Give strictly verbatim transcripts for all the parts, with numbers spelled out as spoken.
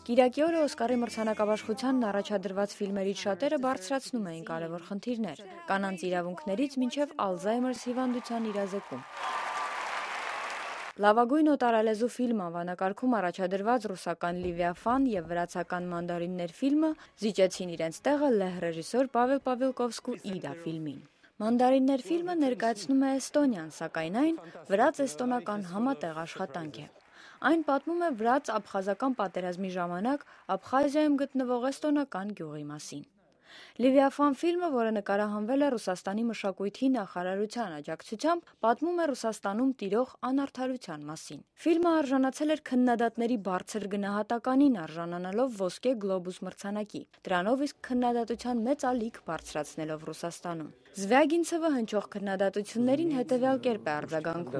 Կիրակի օրը Օսկարի մրցանակաբաշխությանն առաջադրված ֆիլմերից շատերը բարձրացնում էին կարևոր խնդիրներ՝ կանանց իրավունքներից մինչև Ալզայմերս հիվանդության իրազեկում։ Լավագույն օտարալեզու ֆիլմ անվանակարգում առաջադրված ռուսական «Լևիաֆան» և վրացական «Մանդարիններ» ֆիլմը զիջեցին իրենց տեղը լեհ ռեժիսոր Պավել Պավելկովսկու «Իդա» ֆիլմին։ «Մանդարիններ» ֆիլմը ներկայացնում է Էստոնիան, սակայն այն վրաց-էստոնական համատեղ աշխատանք է։ Այն պատմում է վրաց-աբխազական պատերազմի ժամանակ Աբխազիայում գտնվող էստոնական գյուղի մասին։ «Լևիաֆան» ֆիլմը, որը նկարահանվել է Ռուսաստանի մշակույթի նախարարության աջակցությամբ, պատմում է Ռուսաստանում տիրող անարդարության մասին։ Ֆիլմը արժանացել էր քննադատների բարձր գնահատականին, արժանանալով ոսկե գլոբուս մրցանակի, դրանով իսկ քննադատության մեծ ալիք բարձրացնելով Ռուսաստանում։ Զվյագինցևը հնչող քննադատություններին հետևյալ կերպ է արձագանքում.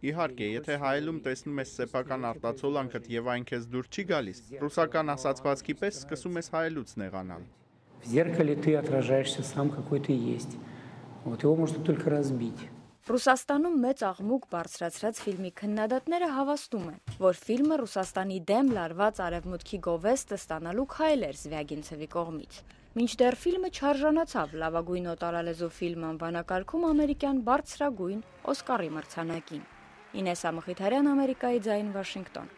Իհարկե, եթե հայելում տեսնում ես սեփական արտացոլանքդ եւ այն քեզ դուր չի գալիս, ռուսական ասացվածքի պես սկսում ես հայելուց նեղանալ։ Ռուսաստանում մեծ աղմուկ բարձրացրած ֆիլմի քննադատները հավաստում են, որ ֆիլմը Ռուսաստանի դեմ լարված արևմուտքի գովեստը ստանալու քայլ էր Զվյագինցևի կողմից։ Մինչդեռ ֆիլմը չարժանացավ լավագույն օտարալեզու ֆիլմ անվանակարգում ամերիկյան բարձրագույն Օսկարի մրցանակին։ Ինեսա Մխիթարյան, Ամերիկայի ձայն, Վաշինգտոն։